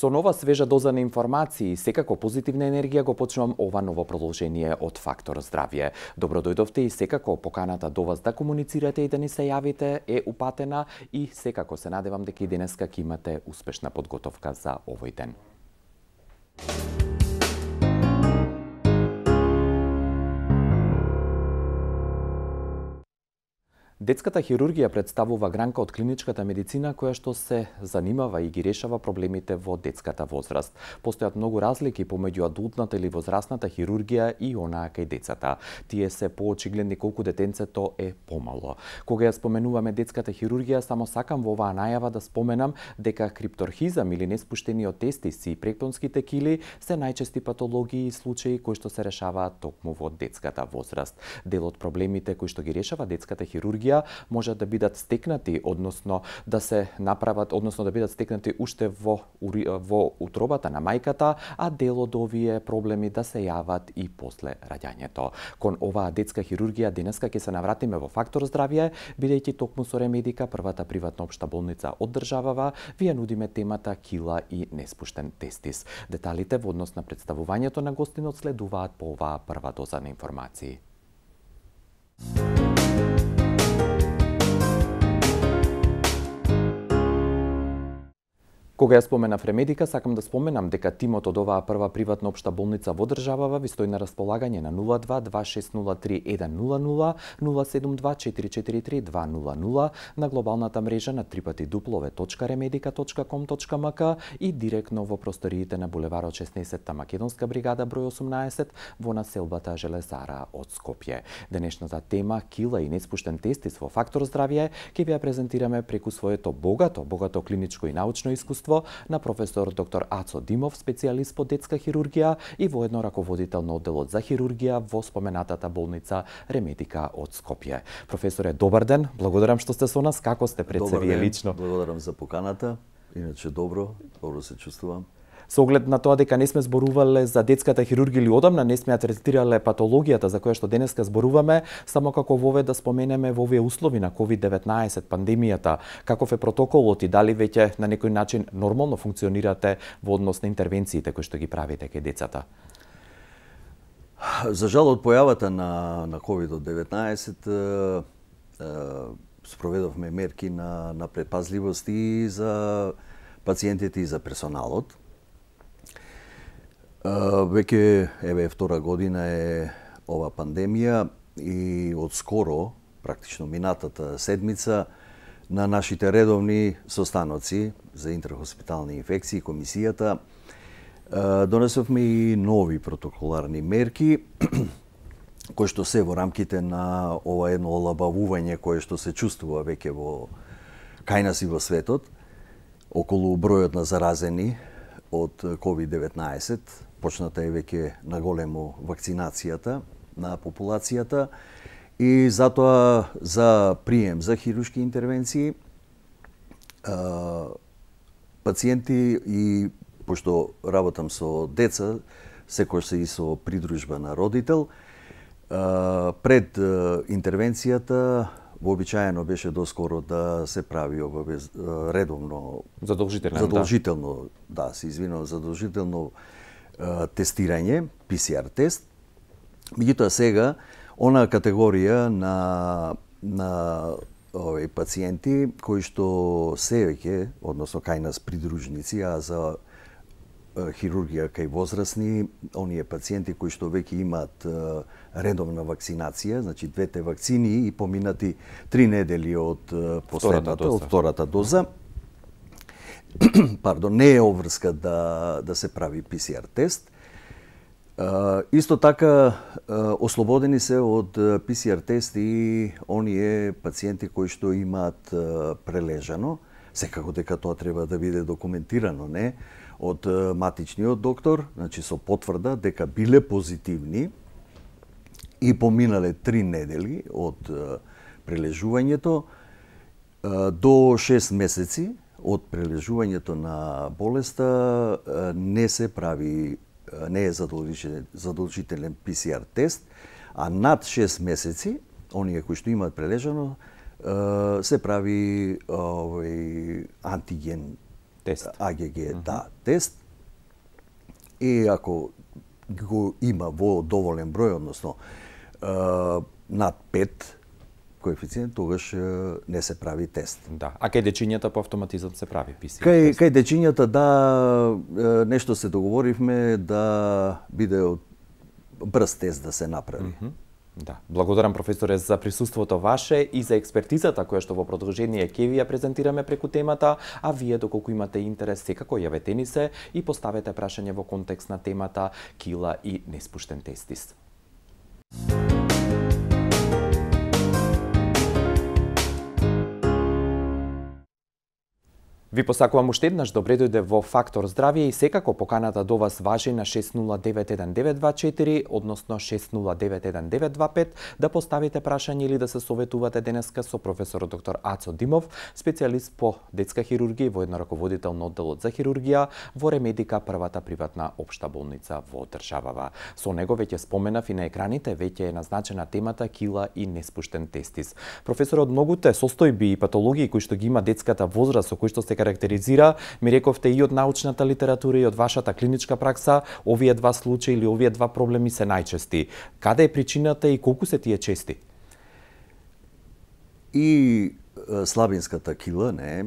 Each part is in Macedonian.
Со нова свежа доза на информации и секако позитивна енергија го почнувам ова ново продолжение од Фактор Здравје. Добро дојдовте и секако поканата до вас да комуницирате и да ни се јавите е упатена и секако се надевам дека и денеска ќе имате успешна подготовка за овој ден. Детската хирургија представува гранка од клиничката медицина која што се занимава и ги решава проблемите во детската возраст. Постојат многу разлики помеѓу адултната или возрастната хирургија и онаа кај децата. Тие се поочигледни колку детенцето е помало. Кога ја споменуваме детската хирургија, само сакам во оваа најава да споменам дека крипторхизам или неспуштениот тестис и пректонските кили се најчести патологии и случаи кои што се решаваат токму во детската возраст. Дел од проблемите кои што ги решава детската хирургија може да бидат стекнати, односно да се направат, односно да бидат стекнати уште во утробата на мајката, а дел од овие проблеми да се јават и после раѓањето. Кон оваа детска хирургија денеска ќе се навратиме во Фактор Здравје, бидејќи токму со Ремедика, првата приватна општа болница од државава, ви ја нудиме темата кила и неспуштен тестис. Деталите во однос на представувањето на гостинот следуваат по оваа прва доза на информации. Кога ја споменав Ремедика, сакам да споменам дека тимот од оваа прва приватна општа болница во државава ви стои на располагање на 02-2603-100, 072-443-200, на глобалната мрежа на www.remedica.com.mk и директно во просториите на булеварот 16-та Македонска бригада број 18 во населбата Железара од Скопје. Денешната тема кила и неспуштен тестис во Фактор Здравје ќе ви ја презентираме преку своето богато клиничко и научно искуство на професор доктор Ацо Димов, специјалист по детска хирургија и воедно раководител на одделот за хирургија во споменатата болница Ремедика од Скопје. Професоре, добар ден, благодарам што сте со нас. Како сте пред се вие лично? Благодарам за поканата. Иначе добро се чувствувам. Со оглед на тоа дека не сме зборувале за детската хирургија или одамна не сме ја третирале патологијата за која што денеска зборуваме, само како вове да споменеме во овие услови на COVID-19 пандемијата, каков е протоколот и дали веќе на некој начин нормално функционирате во однос на интервенциите кои што ги правите кај децата? За жал од појавата на COVID-19 спроведовме мерки на предпазливост и за пациентите и за персоналот. Веќе втора година е ова пандемија и од скоро, практично минатата седмица, на нашите редовни состаноци за интерхоспитални инфекции, комисијата, донесовме и нови протоколарни мерки, кои што се во рамките на ова едно олабавување кое што се чувствува веќе кај нас и во светот, околу бројот на заразени од COVID-19, почната е веќе наголемо вакцинацијата на популацијата и затоа за прием за хируршки интервенции пациенти и пошто работам со деца, секој се и со придружба на родител, пред интервенцијата вообичаено беше доскоро да се прави редовно задолжително тестирање, PCR тест. Меѓутоа сега онаа категорија на пациенти кои што се веќе, односно кај нас придружници, а за хирургија кај возрастни, оние пациенти кои што веќе имаат редовна вакцинација, значи двете вакцини и поминати 3 недели од втората доза. Пардон, не е обврска да се прави PCR тест. Исто така ослободени се од PCR тест и оние пациенти кои што имаат прележано, секако дека тоа треба да биде документирано, не? Од матичниот доктор, значи со потврда дека биле позитивни и поминале 3 недели од прележувањето до 6 месеци од прележувањето на болеста не се прави, не е задолжителен PCR тест, а над 6 месеци, оние кои што имаат прележано, се прави антиген тест. АГГ, да, тест. И ако го има во доволен број, односно над 5 коефициент, тогаш не се прави тест. Да. А кај дечињата по автоматизам се прави ПСР тест? Кај дечињата, да, нешто се договоривме да биде брз тест да се направи. Да. Благодарам, професоре, за присуството ваше и за експертизата која што во продолжение ќе ви ја презентираме преку темата, а вие доколку имате интерес, секако јавете ни се и поставете прашање во контекст на темата кила и неспуштен тестис. Ви посакувам уште еднаш добре дојде во Фактор Здравје и секако поканата до вас важи на 6091924, односно 6091925, да поставите прашање или да се советувате денеска со професор доктор Ацо Димов, специјалист по детска хирургија и воедно раководител на одделот за хирургија во Ремедика, првата приватна општа болница во државава. Со него веќе споменав и на екраните, веќе е назначена темата кила и неспуштен тестис. Професор, од многуте состојби и патологии кои што ги има детската возраст, со кои што се карактеризира, ми рековте и од научната литература и од вашата клиничка пракса, овие два случаи или овие два проблеми се најчести. Каде е причината и колку се тие чести? И слабинската кила, не,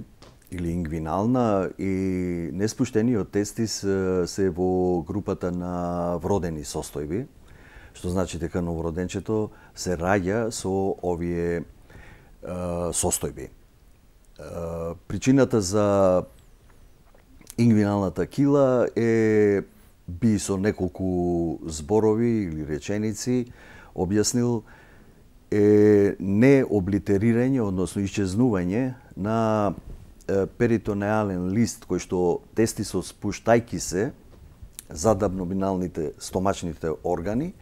или ингвинална, и неспуштениот тестис се во групата на вродени состојби, што значи дека новороденчето се раѓа со овие состојби. Причината за ингвиналната кила би со неколку зборови или реченици објаснил необлитерирање, односно исчезнување на перитонеален лист кој што тестисот спуштајки се зад абдоминалните стомачните органи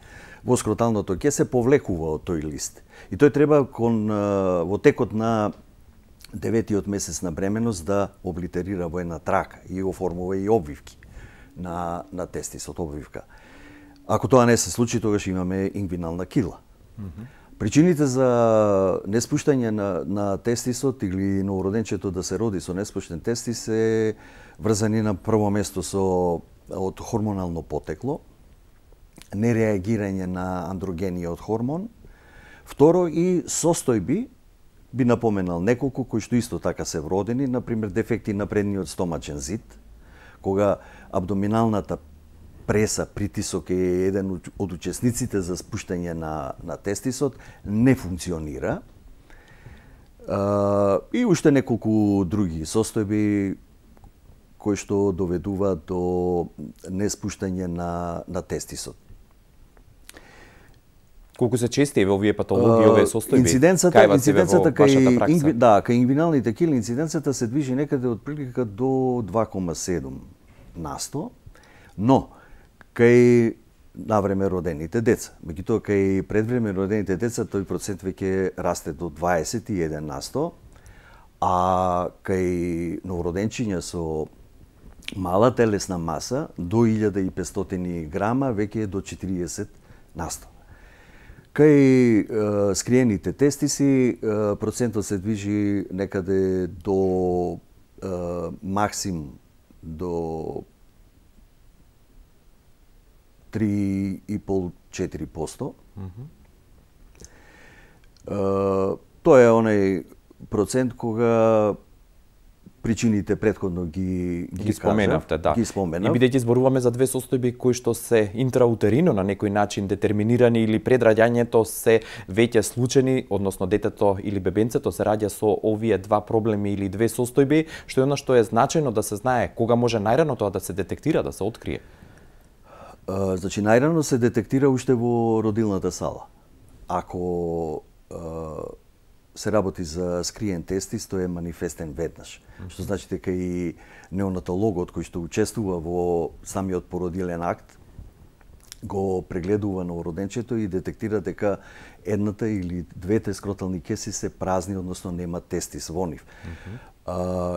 во скроталното ке се повлекува од тој лист. И тој треба во текот на 9-тиот месец на бременост да облитерира во една трака и оформува и обвивки на тестисот, обвивка. Ако тоа не се случи, тогаш имаме ингвинална кила. Причините за неспуштање на тестисот или новороденчето да се роди со неспуштен тестис се врзани на прво место од хормонално потекло, нереагирање на андрогениот хормон, второ и состојби, би напоменал неколку кои што исто така се вродени, например дефекти на предниот стомачен зид, кога абдоминалната преса, притисок е еден од учесниците за спуштање на тестисот, не функционира. И уште неколку други состојби кои што доведуваат до неспуштање на тестисот. Колку се чести во овие патологии, овие состојби? Инциденцата кај ингвиналните кили, инциденцата се движи некаде од прилика до 2,7%, но кај навреме родените деца, меѓутоа кај предвреме родените деца тој процент веќе расте до 21%, а кај новороденчиња со мала телесна маса до 1500 грама веќе е до 40%. Кај скриените тестиси процентот се движи некаде до максимум до 3,5-4%. Тоа е онај процент кога причините претходно ги споменавте, да. Ги споменав. И бидејќи зборуваме за две состојби кои што се интраутерино на некој начин детерминирани или пред раѓањето се веќе случајни, односно детето или бебенцето се раѓа со овие два проблеми или две состојби, што е она што е значајно да се знае кога може најрано тоа да се детектира, да се открие. Значи најрано се детектира уште во родилната сала. Ако се работи за скриен тестис, тој е манифестен веднаш. Што значи дека и неонатологот кој што учествува во самиот породилен акт го прегледува новороденчето и детектира дека едната или двете скротални кеси се празни, односно нема тестис во нив.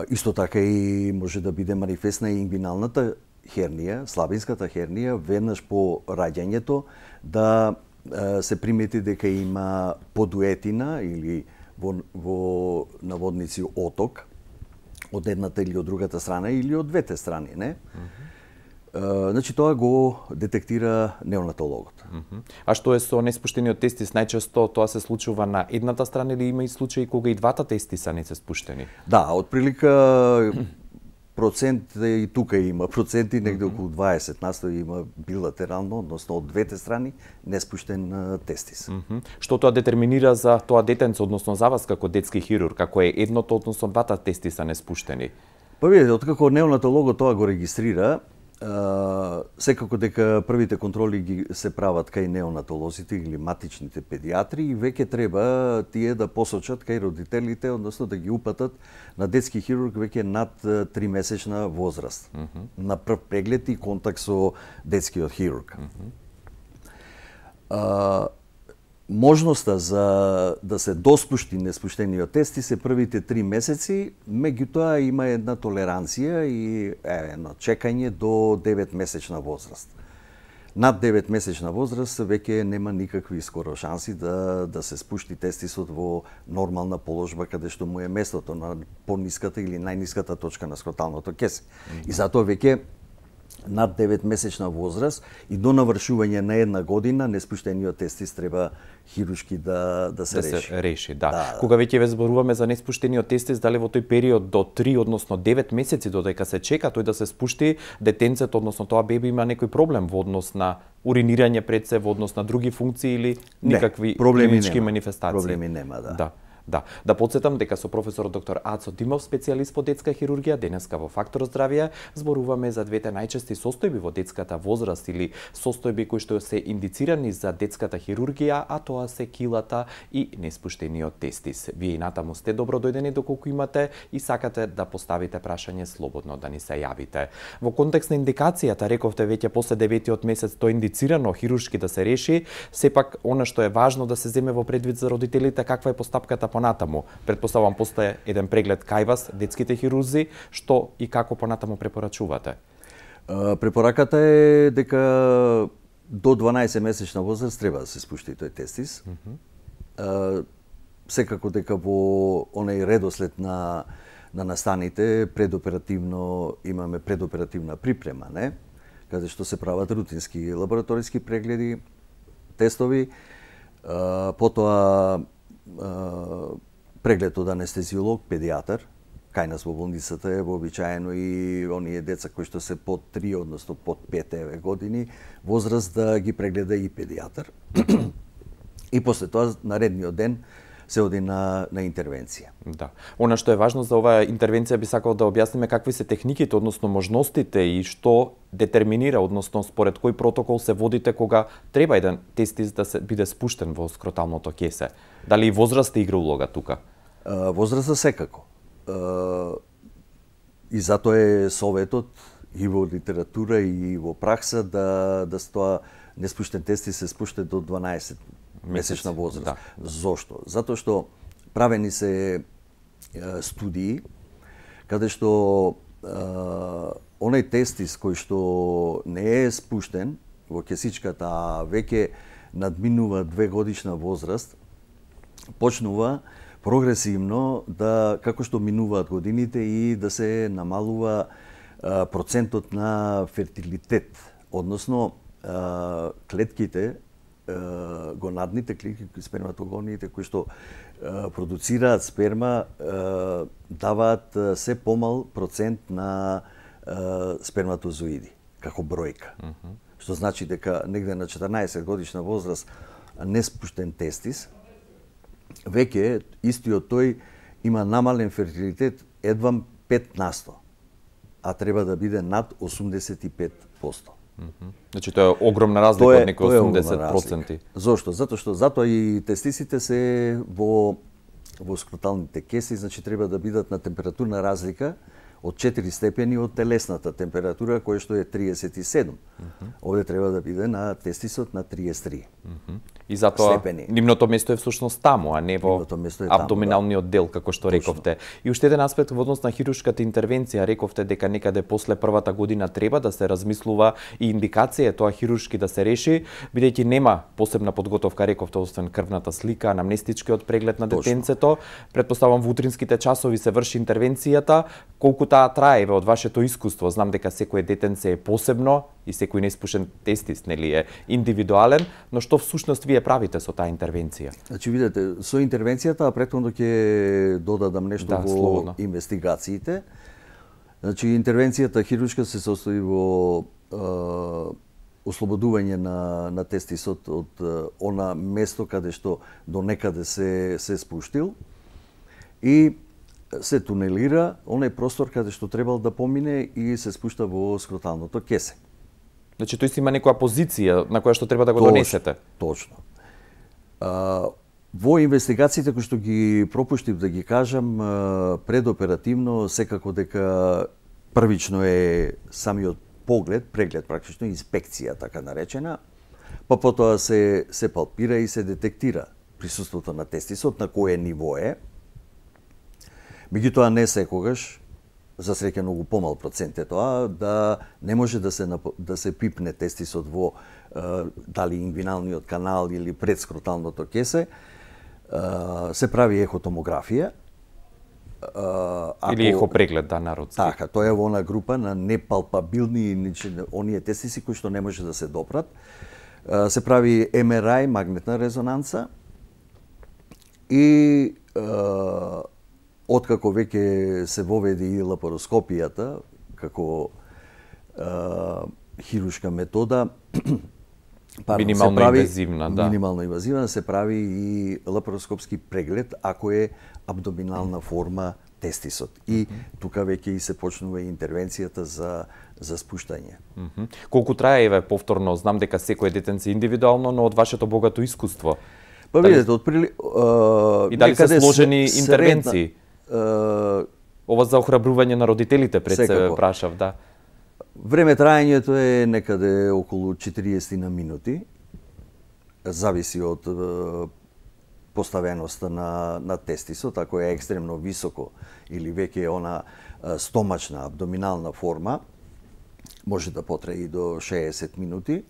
Исто така и може да биде манифестна и ингвиналната хернија, слабинската хернија, веднаш по раѓањето да се примети дека има подуетина или во наводници оток од едната или од другата страна или од двете страни, не? Значи тоа го детектира неонатологот. А што е со неспуштениот тестис? Најчесто тоа се случува на едната страна или има и случаи кога и двата тестиса не се спуштени? Да, отприлика процент и тука има проценти, негде околу 20% има билатерално, односно од двете страни, неспуштен тестис. Што тоа детерминира за тоа детенце, односно за вас како детски хирург, како е едното, односно двата тестиса неспуштени? Па видите, откако неонатологот тоа го регистрира, секако дека првите контроли ги се прават кај неонатолозите или матичните педиатри и веќе треба тие да посочат кај родителите, односно да ги упатат на детски хирург веќе над 3-месечна возраст. На прв преглед и контакт со детскиот хирург. Можноста за да се доспушти неспуштениот тестис е првите 3 месеци, меѓутоа има една толеранција и едно чекање до 9-месечна возраст. Над 9-месечна возраст веќе нема никакви скоро шанси да се спушти тестисот во нормална положба каде што му е местото на пониската или најниската точка на скроталното кесе. И затоа веќе над 9-месечна возраст и до навршување на 1 година неспуштениот тестис треба хируршки да се реши. Да. Кога веќе ве зборуваме за неспуштениот тестис, дали во тој период до 3, односно 9 месеци додека се чека тој да се спушти, детенцето, односно тоа беби има некој проблем во однос на уринирање пред се, во однос на други функции или никакви клинички манифестации? Проблеми нема, да. Да подсетам дека со професор доктор Ацо Димов, специјалист по детска хирургија, денеска во Фактор здравје, зборуваме за двете најчести состојби во детската возраст или состојби кои што се индицирани за детската хирургија, а тоа се килата и неспуштениот тестис. Вие и натаму сте добро дојдени доколку имате и сакате да поставите прашање, слободно да ни се јавите. Во контекст на индикацијата, рековте веќе после 9-тиот месец тоа индицирано хируршки да се реши, сепак она што е важно да се земе во предвид за родителите, каква е постапката понатаму. Предпоставам постоje еден преглед кај вас, детските хирурзи, што и како понатаму препорачувате? Препораката е дека до 12-месечна возраст треба да се спушти тој тестис. Секако дека во онај редослед на настаните предоперативно имаме предоперативна припрема, не? Каде што се прават рутински лабораториски прегледи, тестови, потоа преглед од анестезиолог, педиатар. Кај нас во болницата е вообичаено и оние деца кои што се под 3, односно под 5 години возраст да ги прегледа и педиатар. И после тоа наредниот ден се оди на интервенција. Да. Она што е важно за оваа интервенција би сакал да објасниме какви се техниките, односно можностите и што детерминира, односно според кој протокол се водите кога треба еден тестис да се биде спуштен во скроталното кесе. Дали и возраста игра улога тука? Возраста секако. И затоа е советот и во литература и во пракса да тоа неспуштен тестис се спуште до 12 месечна возраст. Да. Зошто? Затоа што правени се студии каде што онај тестис кој што не е спуштен во кесичката, а веќе надминува 2-годишна возраст, почнува прогресивно да, како што минуваат годините, и да се намалува процентот на фертилитет, односно клетките, гонадните клетки, сперматогониите кои што продуцираат сперма, даваат се помал процент на сперматозоиди како бројка. Што значи дека негде на 14 годишна возраст неспуштен тестис, веќе истиот тој има намален фертилитет едвам 5%, а треба да биде над 85%. Значи тоа е огромна разлика од некои 80%. Зошто? Затоа и тестисите се во скроталните кеси, значи треба да бидат на температурна разлика од 4 степени од телесната температура, која што е 37. Овде треба да биде на тестисот на 33. И затоа степени. нивното место е всушност таму, а не во абдоминалниот дел, како што рековте. И уште еден аспект во однос на хируршката интервенција, рековте дека некаде после првата година треба да се размислува и индикација тоа хируршки да се реши, бидејќи нема посебна подготовка, рековте, освен крвната слика, анамнестичкиот преглед на детенцето. Претпоставам во утринските часови се врши интервенцијата. Колку таа трае од вашето искуство? Знам дека секое детенце е посебно и секој неиспушен тестис, нели, е индивидуален, но што всушност вие правите со таа интервенција? Значи, видете, со интервенцијата, претходно ќе додадам нешто во слободно. инвестигациите. Значи, интервенцијата хируршка се состои во ослободување на тестисот од она место каде што до некаде се спуштил и се тунелира онај простор каде што требал да помине и се спушта во скроталното кесе. Значи, тој си има некоја позиција на која што треба да го донесете? Точно. Во инвестигациите кои што ги пропуштив да ги кажам, предоперативно секако дека првично е самиот поглед, преглед практично, инспекција така наречена, па потоа се палпира и се детектира присуството на тестисот, на кое ниво е. Меѓутоа не секогаш, за среќа многу помал процент е тоа, да не може да се пипне тестисот во дали ингвиналниот канал или предскроталното кесе, се прави ехотомографија. Или ехопреглед, да, народски. Така, тоа е во она група на непалпабилни, оние тестиси кои што не може да се допрат. Се прави МРА, магнетна резонанца, и откако веќе се воведе и лапароскопијата како хируршка метода, минимално инвазивна, да. Минимално инвазивна, се прави и лапароскопски преглед ако е абдоминална форма тестисот. И тука веќе и се почнува интервенцијата за спуштање. Колку трае, еве, повторно, знам дека секој детенце индивидуално, но од вашето богато искуство. Па видете, и дали се сложени интервенции? Ова за охрабрување на родителите пред се прашав, да. Време траењето е некаде околу 40 на минути. Зависи од поставеноста на тестисот, ако е екстремно високо или веќе е она стомачна, абдоминална форма, може да потрае и до 60 минути.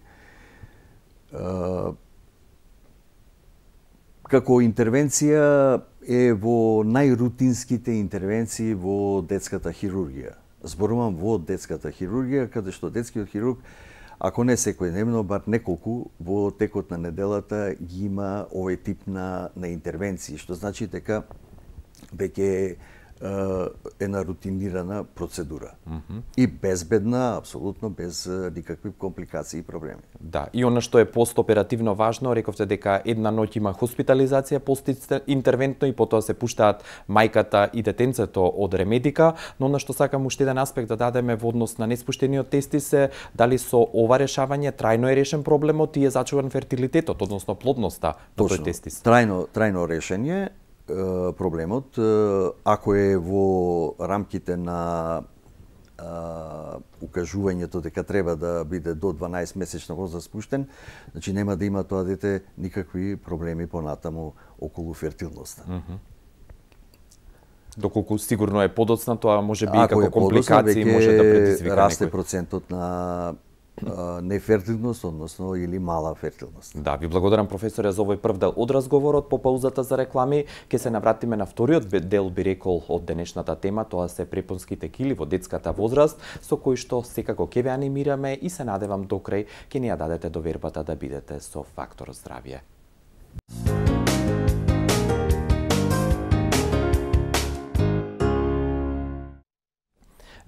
Како интервенција е во најрутинските интервенции во детската хирургија. Зборувам во детската хирургија, каде што детскиот хирург, ако не секојдневно, бар неколку во текот на неделата ги има овој тип на интервенции, што значи дека веќе една рутинирана процедура. И безбедна, апсолутно без никакви компликации и проблеми. Да, и она што е постоперативно важно, рековте дека една ноќ има хоспитализација постинтервентно и потоа се пуштаат мајката и детенцето од ремедика, но она што сакам уште еден аспект да дадеме во однос на неспуштениот тестис е дали со ова решавање трајно е решен проблемот и е зачуван фертилитетот, односно плодноста во тој тестис. Трајно решение проблемот, ако е во рамките на укажувањето дека треба да биде до 12 месечна возраст спуштен, значи нема да има тоа дете никакви проблеми понатаму околу фертилноста. Доколку сигурно е подоцна, тоа може би и како компликации може да предизвика некој. Расте процентот на нефертилност, односно или мала фертилност. Да, ви благодарам професоре за овој прв дел од разговорот. По паузата за реклами ќе се навратиме на вториот дел, би рекол, од денешната тема, тоа се препонските кили во детската возраст, со кои што секако ќе ве анимираме и се надевам до крај ќе ни ја дадете довербата да бидете со Фактор здравје.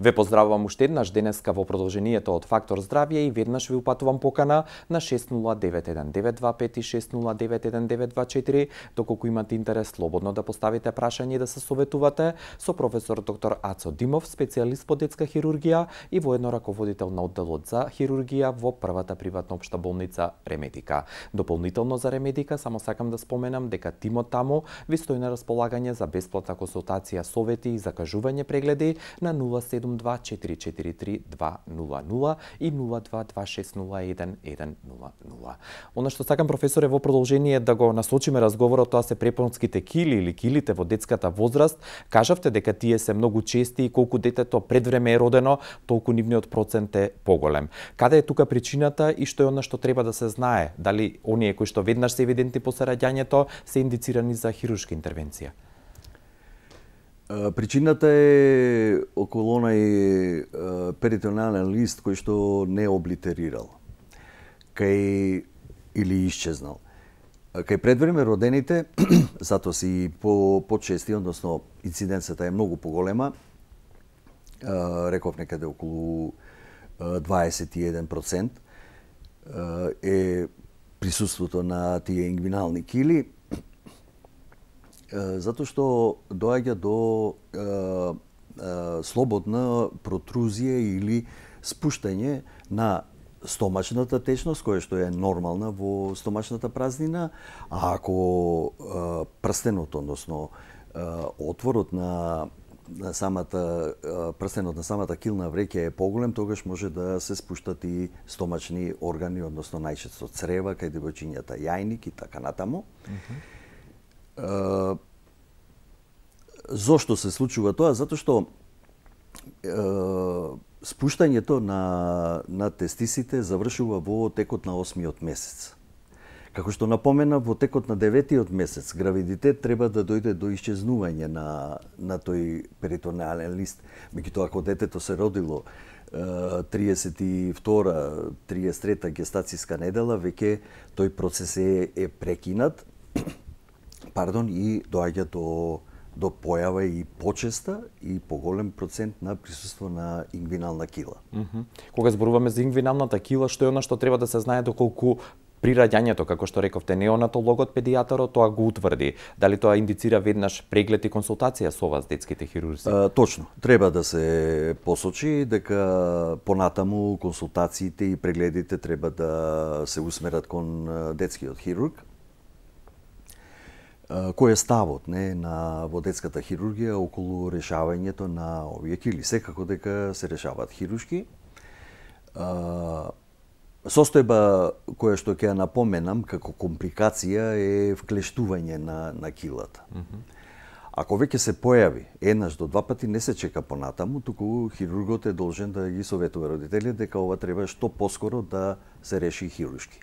Ве поздравувам уште еднаш денеска во продолжението од Фактор здравје и веднаш ви упатувам покана на 609192 и 609124, доколку имате интерес слободно да поставите прашање и да се советувате со професор доктор Ацо Димов, специјалист по детска хирургија и воедно раководител на одделот за хирургија во првата приватна општа болница Ремедика. Дополнително за Ремедика само сакам да споменам дека тимот таму ви стои на располагање за бесплатна консултација, совети и закажување прегледи на 07 072-443-200 и 022601110. Она што сакам, професоре, во продолжение да го насочиме разговорот, тоа се препонските кили или килите во детската возраст. Кажавте дека тие се многу чести и колку детето пред време е родено, толку нивниот процент е поголем. Каде е тука причината и што е она што треба да се знае? Дали оние кои што веднаш се евидентни после раѓањето се индицирани за хируршка интервенција? Причината е околу онај перитонален лист кој што не е облитерирал кај или исчезнал. Кај предвреме родените, затоа си почести, односно инциденцията е многу поголема, реков некаде околу 21% е присуството на тие ингвинални кили, затоа што доаѓа до слободна протрузија или спуштање на стомачната течност, која што е нормална во стомачната празнина, а ако прстенот, односно отворот на самата прстенот на самата килна вреќа е поголем, тогаш може да се спуштат и стомачни органи, односно најчесто црева, кај девојчињата јајник и така натаму. Зошто се случува тоа? Затоа што спуштањето на тестисите завршува во текот на 8-миот месец. Како што напомена, во текот на 9-тиот месец гравидитет треба да дојде до исчезнување на тој перитонеален лист. Меѓутоа, ако детето се родило 32-33 гестацијска недела, веќе тој процес е прекинат, и доаѓа до појава и почеста и поголем процент на присуство на ингвинална кила. Кога зборуваме за ингвиналната кила, што е она што треба да се знае доколку при раѓањето, како што рековте, неонатологот, педијатарот, тоа го утврди. Дали тоа индицира веднаш преглед и консултација со вас, детските хирурзи? Точно. Треба да се посочи дека понатаму консултациите и прегледите треба да се усмерат кон детскиот хирург. Кој е ставот во детската хирургија околу решавањето на овие кили? Секако дека се решаваат хируршки. Состојба која што ќе ја напоменам како компликација е вклештување на килата. Ако веќе се појави еднаш до два пати, не се чека понатаму, туку хирургот е должен да ги советува родителите дека ова треба што поскоро да се реши хируршки.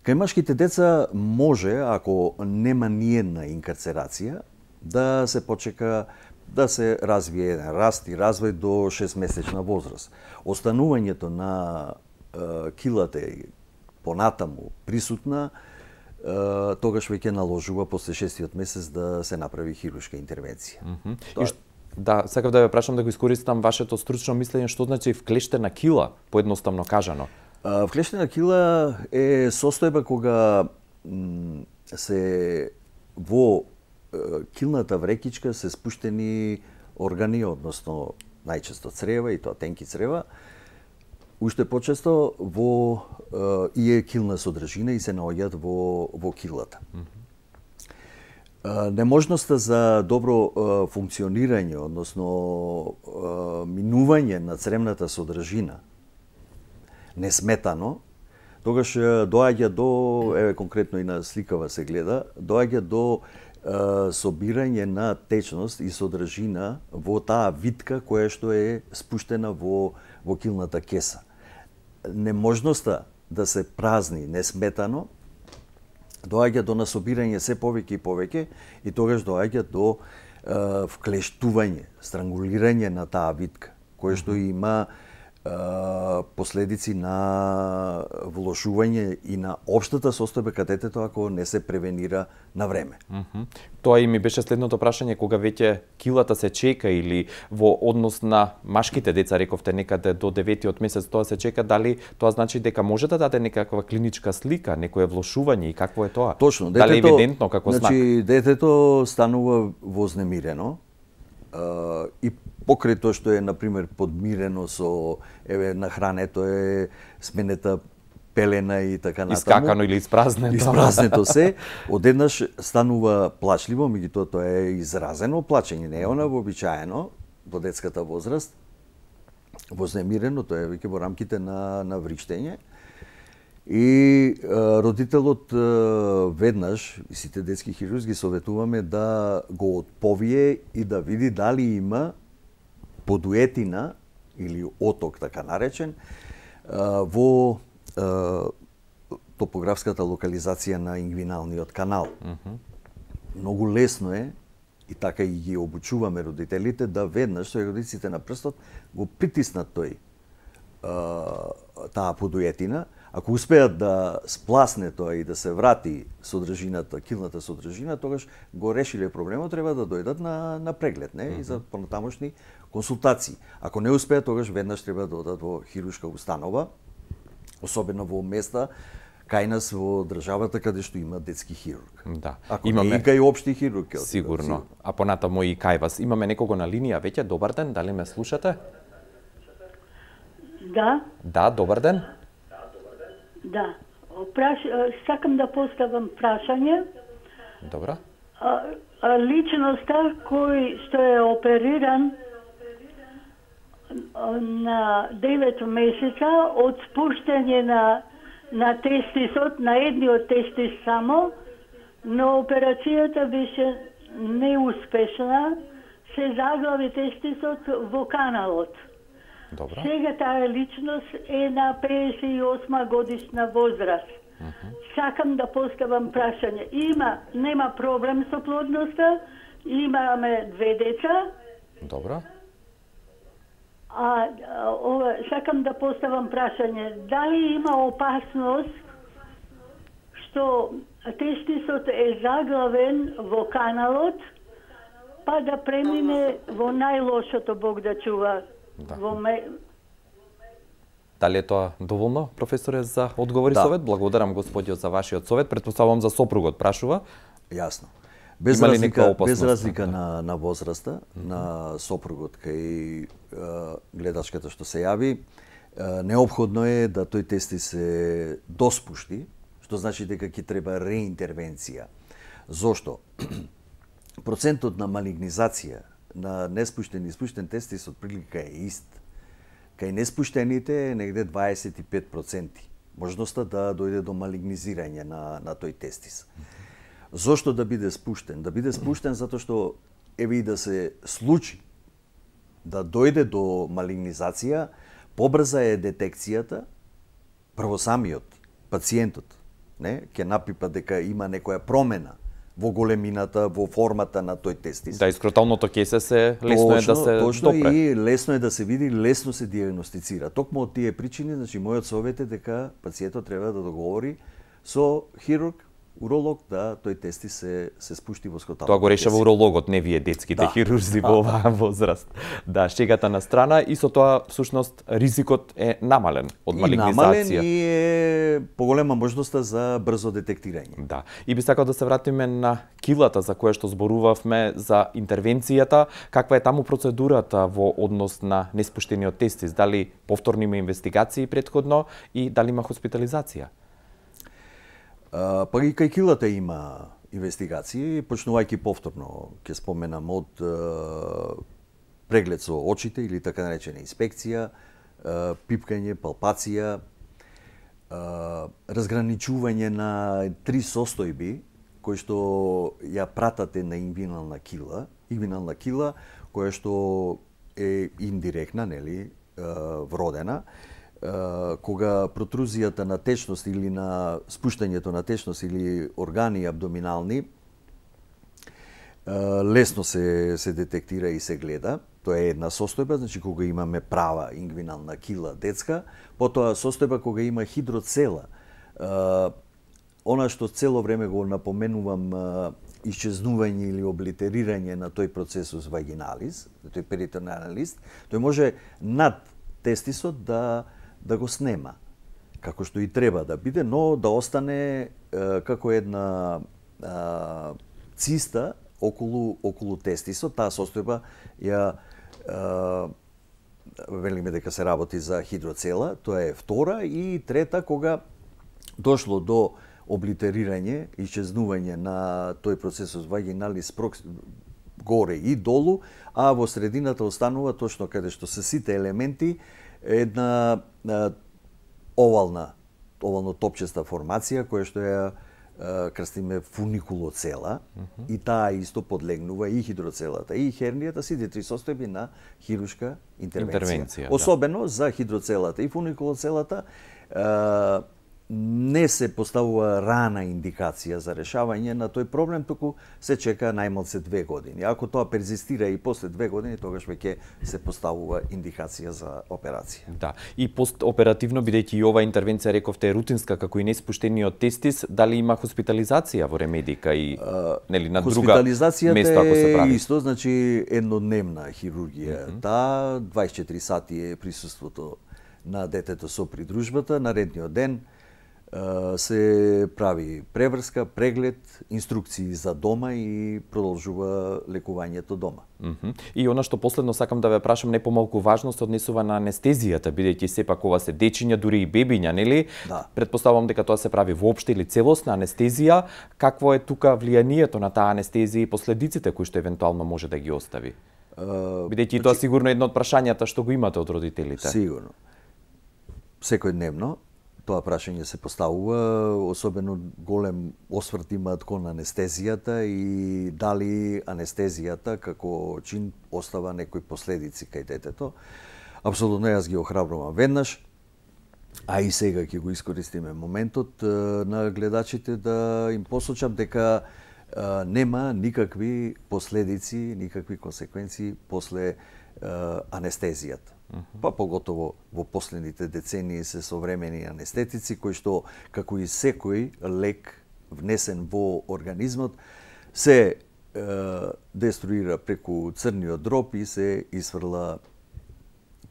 Кај машките деца може, ако нема ниедна инкарцерација, да се почека да се развие еден раст и развој до 6-месечна возраст. Останувањето на килата понатаму присутна, тогаш веќе наложува после 6-тиот месец да се направи хируршка интервенција. Да, сакав да ве прашам, да го искористам вашето стручно мислење, што значи вклештена кила, поедноставно кажано? Вклештена кила е состојба кога се во килната врекичка се спуштени органи, односно најчесто црева, и тоа тенки црева, уште почесто во и е килна содржина и се наоѓаат во килата. Неможноста за добро функционирање, односно минување на цревната содржина несметано, тогаш доаѓа до, конкретно и на сликава се гледа, доаѓа до собирање на течност и содржина во таа витка која што е спуштена во килната кеса. Неможноста да се празни несметано доаѓа до насобирање се повеќе и повеќе и тогаш доаѓа до вклештување, странгулирање на таа витка, која што има последици на влошување и на општата состојба кај детето ако не се превенира на време. Тоа и ми беше следното прашање, кога веќе килата се чека или во однос на машките деца, рековте некаде до 9-тиот месец тоа се чека, дали тоа значи дека може да даде некаква клиничка слика, некое влошување и какво е тоа? Точно, детето, дали е евидентно како знак? Значи детето станува вознемирено и покрај тоа што е, например, подмирено со нахрането е сменета пелена и така натаму. Искакано или испразнето. Испразнето се, одеднаш станува плачливо, меѓутоа тоа е изразено плачење, не е она вообичаено, во детската возраст, вознемирено, тоа е веќе во рамките на вриштење. И родителот веднаш, и сите детски хирурзи советуваме да го отповие и да види дали има подуетина или оток, така наречен, во топографската локализација на ингвиналниот канал. Многу лесно е, и така и ги обучуваме родителите, да веднаш со ягодиците на прстот го притиснат таа подуетина. Ако успеат да спласне тоа и да се врати содржината, килната содржина, тогаш го решиле проблемот, треба да дојдат на преглед, не? И за понатамошни консултации. Ако не успеат, тогаш веднаш треба да одат во хируршка установа, особено во места кај нас во државата каде што има детски хирург. Да. Ако не и кај општи хирург. Сигурно. А понатамо и кај вас. Имаме некого на линија веќе. Добар ден, дали ме слушате? Да. Да, добар ден. Да. Сакам да поставам прашање. Добро. Личноста кој што е опериран на 9 месеца од спуштање на тестисот, на едниот тестис само, но операцијата беше неуспешна, се заглави тестисот во каналот. Добро. Сега таа личност е на 58 годишна возраст. Сакам да поставам прашање. Нема проблем со плодноста, имаме 2 деца. Добро. Сакам да поставам прашање. Дали има опасност што тестисот е заглавен во каналот, па да премине во најлошото, Бог да чува. Да. Дали е тоа доволно, професоре, за одговор и совет? Благодарам, господиот, за вашиот совет. Предпоставувам за сопругот прашува. Јасно. Без разлика на возраста, на сопругот кај гледачката што се јави, неопходно е да тој тестис се доспушти, што значи дека ќе треба реинтервенција. Зошто? Процентот на малигнизација на неспуштен и спуштен тестис од прилика е ист. Кај неспуштените е негде 25%. Можноста да дојде до малигнизирање на тој тестис. Зошто да биде спуштен? Да биде спуштен затоа што еве и да се случи да дојде до малигнизација, побрза е детекцијата, прво самиот пациентот, не, ќе напипа дека има некоја промена во големината, во формата на тој тестис. Да, искроталното кесе се лесно е да се точно допре. И лесно е да се види, лесно се диагностицира. Токму од тие причини, значи мојот совет е дека пациентот треба да договори со хирург, уролог, да тој тестис се спушти во скроталното. Тоа го решава урологот, не вие детските хирурзи во оваа возраст. Да, шегата на страна, и со тоа всушност ризикот е намален од малигнизација. И намален и е поголема можноста за брзо детектирање. Да. И би сакал да се вратиме на килата за која што зборувавме, за интервенцијата. Каква е таму процедурата во однос на неспуштениот тестис? Дали повторно има инвестигации претходно и дали има хоспитализација? Па и кај килата има инвестигации, почнувајќи повторно, ќе споменам од преглед со очите или така наречена инспекција, пипкање, палпација, разграничување на 3 состојби кои што ја пратат една ингвинална кила која што е индиректна, нели, вродена, кога протрузијата на течност или на спуштањето на течност или органи абдоминални лесно се детектира и се гледа. Тоа е една состојба, значи кога имаме права ингвинална кила детска, потоа состојба кога има хидроцела. Она што цело време го напоменувам, исчезнување или облитерирање на тој процесус вагиналис, на тој перитонален лист, тој може над тестисот да го снема, како што и треба да биде, но да остане како една циста околу тестисот. Таа состојба ја велиме дека се работи за хидроцела, тоа е втора, и трета кога дошло до облитерирање, исчезнување на тој процесус вагиналис горе и долу, а во средината останува точно каде што се сите елементи една овално топчеста формација која што ја крстиме фуникулоцела и таа исто подлегнува и хидроцелата и хернијата, сите три состојби на хируршка интервенција. Особено за хидроцелата и фуникулоцелата не се поставува рана индикација за решавање на тој проблем, туку се чека најмалце 2 години. Ако тоа перзистира и после 2 години, тогаш веќе се поставува индикација за операција. Да, и постоперативно, бидејќи и оваа интервенција рековте е рутинска, како и неспуштениот тестис, дали има хоспитализација во Ремедика и нели на друга место ако се прави? Хоспитализацијата е исто, значи еднодневна хирургија. Таа 24 сати е присуството на детето со придружбата, наредниот ден се прави преврска, преглед, инструкции за дома и продолжува лекувањето дома. И она што последно сакам да ве прашам, не помалку важно се однесува на анестезијата, бидејќи сепак ова се дечиња, дури и бебиња, нели? Да. Предпоставувам дека тоа се прави воопште или целосна анестезија. Какво е тука влијанието на таа анестезија и последиците кои што евентуално може да ги остави? Бидејќи тоа сигурно е едно од прашањата што го имате од родителите. Сигурно. Секојдневно тоа прашање се поставува, особено голем осврт имаат кон анестезијата и дали анестезијата како чин остава некои последици кај детето. Апсолутно јас ги охрабрувам веднаш, а и сега ќе го искористиме моментот на гледачите да им посочам дека нема никакви последици, никакви консеквенции после анестезијата. Па поготово во последните децении се современи анестетици кои што, како и секој лек внесен во организмот, се деструира преку црниот дроб и се исфрла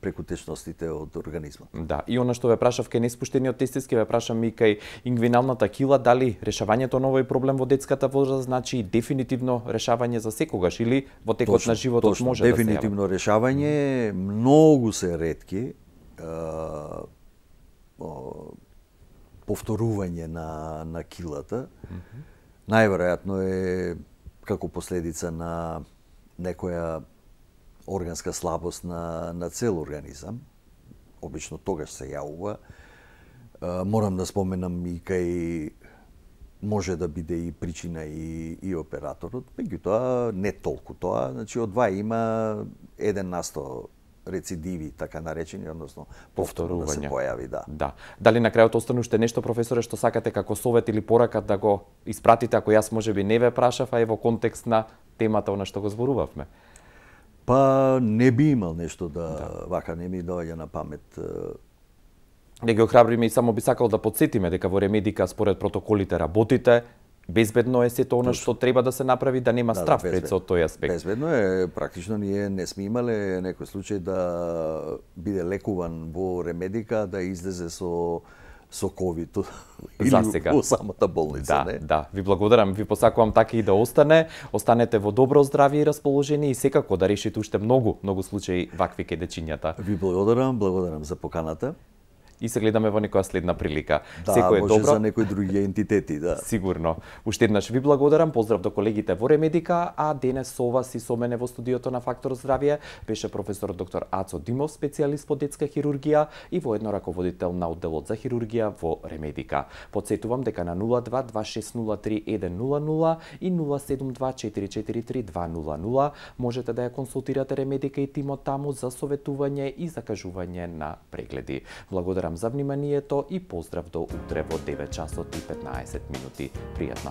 преку течностите од организмот. Да, и она што ве прашав кај неспуштениот тестис, ке ве прашам и кај ингвиналната кила, дали решавањето на овој проблем во детската возраст значи дефинитивно решавање за секогаш или во текот на животот може дефинитивно да се решавање, многу се ретки повторување на килата. Најверојатно е како последица на некоја органска слабост на цел организам. Обично тогаш се јавува. Морам да споменам и кај може да биде и причина и операторот, меѓутоа не толку тоа, значи од два има 1% рецидиви, така наречени, односно повторно да се појави, да. Да. Дали на крајот остана уште нешто, професоре, што сакате како совет или порака да го испратите, ако јас можеби не ве прашав, а е во контекст на темата на што го зборувавме? Па не би имал нешто вака не ми доаѓа на памет. Да ги охрабриме и само би сакал да подсетиме дека во Ремедика според протоколите работите, безбедно е сето она што треба да се направи, да нема страф пред со тој аспект. Безбедно е, практично ние не сме имале некој случај да биде лекуван во Ремедика, да излезе со COVID или во самата болница, да, не? Да, ви благодарам, ви посакувам така и да остане. Останете во добро здравје и расположение и секако да решите уште многу случаи вакви кај дечињата. Ви благодарам за поканата. И се гледаме во некоја следна прилика. Да, секој е може добро за некои други ентитети, да. Сигурно. Уште еднаш ви благодарам, поздрав до колегите во Ремедика, а денес со вас и со мене во студиото на Фактор Здравје беше професор доктор Ацо Димов, специјалист по детска хирургија и воедно раководител на одделот за хирургија во Ремедика. Подсетувам дека на 0226031000 и 0724433200 можете да ја консултирате Ремедика и тимот таму за советување и закажување на прегледи. Благодарам за вниманието и поздрав до утре во 9 часот и 15 минути. Пријатно!